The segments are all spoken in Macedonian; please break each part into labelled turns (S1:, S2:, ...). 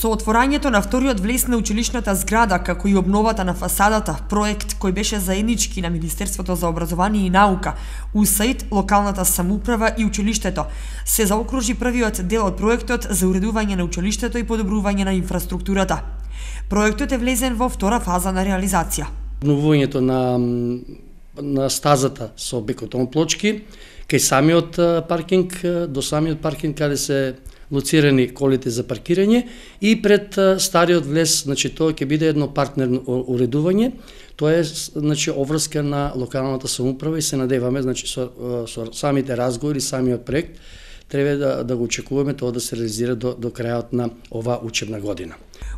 S1: Со отворањето на вториот влез на училишната зграда, како и обновата на фасадата, проект кој беше заеднички на Министерството за образование и наука, УСАИД, локалната самоуправа и училиштето, се заокружи првиот дел од проектот за уредување на училиштето и подобрување на инфраструктурата. Проектот е влезен во втора фаза на реализација.
S2: Обновувањето на стазата со бекотон плочки, кај самиот паркинг, до самиот паркинг каде се лоцирани колите за паркирање и пред стариот влез, значи тоа ќе биде едно партнерно уредување. Тоа е значи обврска на локалната самоуправа и се надеваме значи со самите разговори, самиот проект треба да го очекуваме тоа да се реализира до крајот на оваа учебна година.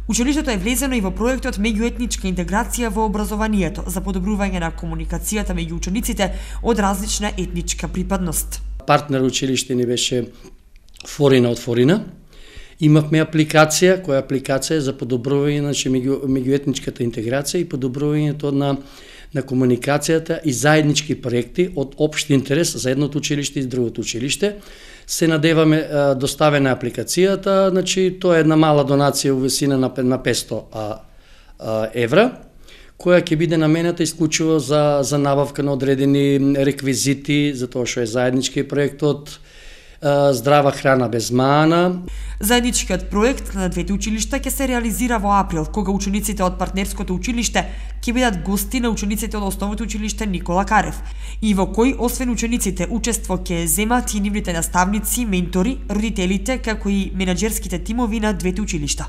S1: Училиштето е влезено и во проектот меѓуетничка интеграција во образованието за подобрување на комуникацијата меѓу учениците од различна етничка припадност.
S2: Партнер училиште ни беше Форина од Форина. Имавме апликација, која апликација е за подобрување значи меѓуетничката интеграција и подобрувањето на комуникацијата и заеднички проекти од општ интерес за едното училиште и другото училиште. Се надеваме доставена апликацијата, значи тоа е една мала донација во висина на 500 евра, која ќе биде наменета исклучиво за набавка на одредени реквизити, за тоа што е заеднички проектот, здрава храна без мана.
S1: Заедничкиот проект на двете училишта ќе се реализира во април, кога учениците од партнерското училиште ќе бидат гости на учениците од основното училиште Никола Карев, и во кој освен учениците учество ќе земат и нивните наставници, ментори, родителите, како и менаџерските тимови на двете училишта.